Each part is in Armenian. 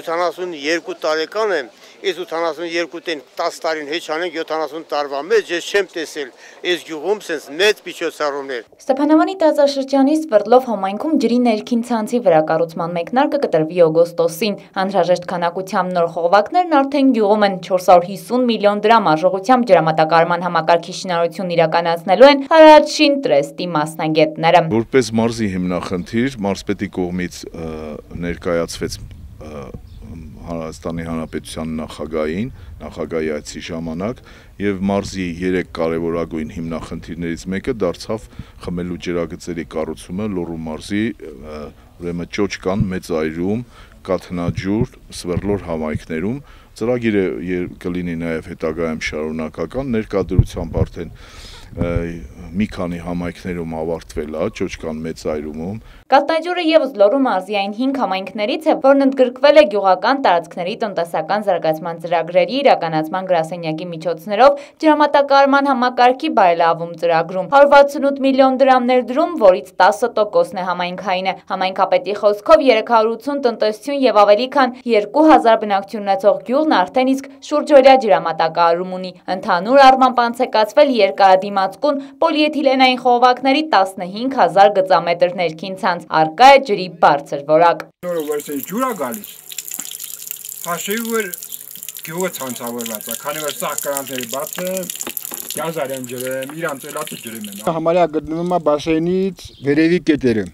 72 տարեկան եմ, ես 82-ին 10 տարին հեչ անենք 70 տարվա մեջ, ես չեմ տեսել այս գյուղում սենց մեծ միջոցառումներ։ Ստեփանավանի տարածաշրջանի Սվերդլով համայնքում ջրի ներքին ցանցի վրա կառուցման մեկնարկը կտրվի օգոստոսին։ Անհրաժեշտ քանակությամբ նոր խողովակներն արդեն գյուղում են, 450 միլիոն դրամ արժողությամբ ջրամատակարարման համակարգի շինարարությունն իրականացնելու են Հարաճշին տրեստի մասնագետները։ Որպես մարզի հիմնախնդիր մարզպետի կողմից ներկայացվեց Հայաստանի Հանրապետության նախագահային, նախագահի այցի ժամանակ եւ մարզի 3 կարևորագույն հիմնախնդիրներից մեկը դարձավ խմելու ջրագծերի կառուցումը Լոռու մարզի ուրեմն Ճոճկան, Մեծայրում, Կաթնաջուր, Սվերդլոր համայնքներում ծրագիրը կլինի նաեւ հետագայում շարունակական ներկայությամբ արդեն մի քանի համայնքներում ավարտվել է, Ճոճկան, Մեծայրումում։ Կաթնաջուրը եւս Լոռու մարզի այն 5 համայնքներից է, որն ընդգրկվել է գյուղական տարածքների տնտեսական զարգացման ծրագրերի իրականացման գրասենյակի միջոցներով ջրամատակարարման համակարգի բարելավում ծրագրում։ 168 միլիոն դրամ ներդրում, որից 10%-ն է համայնքային է։ Համայնքապետի խոսքով 380 տնտեսություն եւ ավելի քան 2000 բնակչություն ունեցող գյուղն արդեն իսկ շուրջօրյա ջրամատակարարում ունի։ Ընդհանուր առմամբ անցեկացվել երկարադիմացկուն պոլիէթիլենային խողովակների 15000 գծամետր ներքին ցանց, արկա է ջրի բարձր որակ։ Ջուր է գալիս, հաշվի որ գյուղը ցանցավորված է, քանի որ սաղ կրանքները բաց են, գազարեմ ջրեմ, իրանց էլատը ջրեմ են։ Համարյա գտնվում է բասեյնից վերևի կետերը,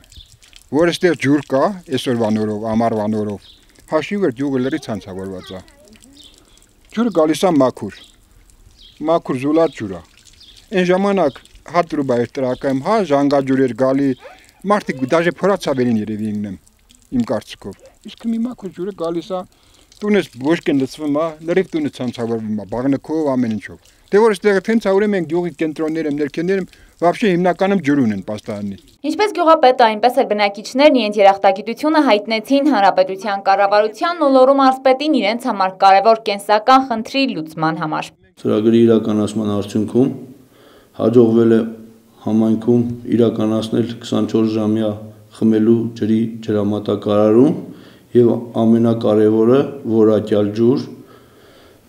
որ այստեղ ջուր կա, այսօրվա նորով, ամառվա նորով, հաշվի որ գյուղը լրի ցանցավորված է։ Ջուրը գալիս է մաքուր զուլատ ջուր է։ Այն ժամանակ հատ ռուբա էր տրակայում, հա ժանգաջուր էր գալի, մարդիկ դաժե փորացավերին երևի ինգնեմ իմ կարծիքով։ Իսկ մի մաքուր ջուրը գալիս է, տունես ոչկեն լցվում է, լրիվ տունը ցանցավորվում է, բաղնկով ամեն ինչով։ Դե որ այստեղ թենց ուրեմն գյուղի կենտրոններում, ներքեներում вообще հիմնականում ջուր ունեն պաստարանի։ Ինչպես գյուղապետը, այնպես էլ բնակիչներն իրենց երախտագիտությունը հայտնեցին հանրապետության կառավարությանն ու Լոռու մարզպետին իրենց համար կարևոր կենսական խնդրի լուծման համար։ Ծրագրի իրականացման արդյունքում հաջողվել է համայնքում իրականացնել 24-ժամյա խմելու ջրի ջրամատակարարում եւ ամենակարևորը որակյալ ջուր,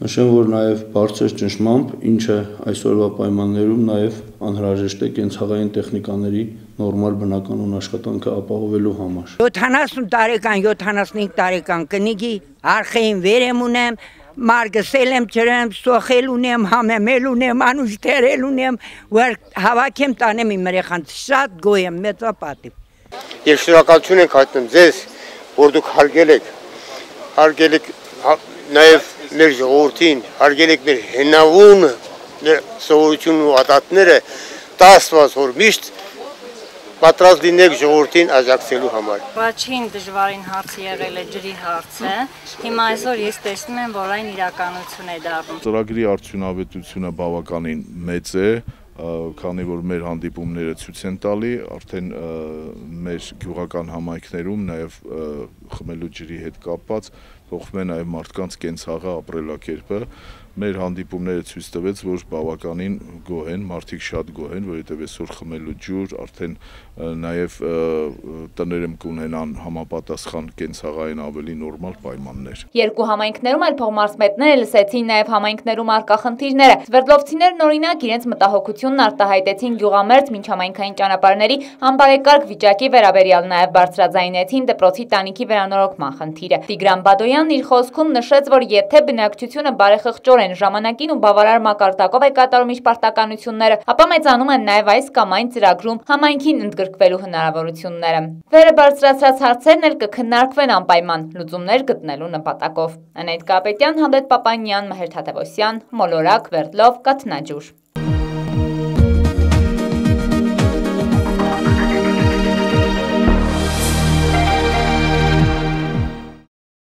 նշեմ, որ նաեւ բարձր ճնշմամբ, ինչը այսօրվա պայմաններում նաեւ անհրաժեշտ է կենցաղային տեխնիկաների նորմալ բնականոն աշխատանքը ապահովելու համար։ 70 տարեկան, 75 տարեկան կնիկի արխային վեր եմ ունեմ, մարգսել եմ ջրեմ, սոխել ունեմ, համեմել ունեմ, անուշ թերել ունեմ, որ հավաքեմ տանեմ իմ երեխան, շատ գոհ եմ, մեծապատիվ։ Եվ շնորհակալություն ենք հայտնում ձեզ, որ դուք հարգել եք նաև մեր ժողովրդին, հարգել եք մեր հնավուն սովորությունն ու ադատները, տասված որ միշտ պատրաստ լինեք ժողովրդին աջակցելու համար։ Առաջին դժվարին հարցը եղել է ջրի հարցը, հիմա այսօր ես տեսնում եմ, որ այն իրականություն է դառնում։ Ծրագրի արդյունավետությունը բավականին մեծ է, քանի որ մեր հանդիպումները ցույց են տալի, արդեն մեր գյուղական համայնքներում նաև խմելու ջրի հետ կապված փոխվում է նաև մարդկանց կենցաղը ապրելակերպը։ Մեր հանդիպումները ցույց տվեց, որ բավականին գոհ են, մարդիկ շատ գոհ են, որովհետև այսօր խմելու ջուր, արդեն նաև տներում կունենան համապատասխան կենցաղային ավելի նորմալ պայմաններ։ Երկու համայնքներում այլ փոխմարզպետները լսեցին նաև համայնքներում առկա խնդիրները։ Սվերդլովցիներն օրինակ իրենց մտահոգությունն արտահայտեցին գյուղամերձ միջհամայնքային ճանապարհների անբարեկարգ վիճակի վերաբերյալ, նաև բարձրաձայնեցին դպրոցի տանիքի վերանորոգման խնդիրը։ Տիգրան Բադոյանն իր խոսքում նշեց, որ եթե բնակչությունը բարեխղճորեն ժամանակին ու բավարար մակարդակով է կատարում իր պարտականությունները, ապա մեծանում են նաև այս կամ այն ծրագրում համայնքին ընդգրկվելու հնարավորությունները։ Վերը բարձրացրած հարցերն էլ կքննարկվեն անպայման լուծումներ գտնելու նպատակով։ Անետ Կապետյան, Հանդետ Պապանյան, Մհեր Թադևոսյան, Մոլորակ, Սվերդլով, Կաթնաջուր։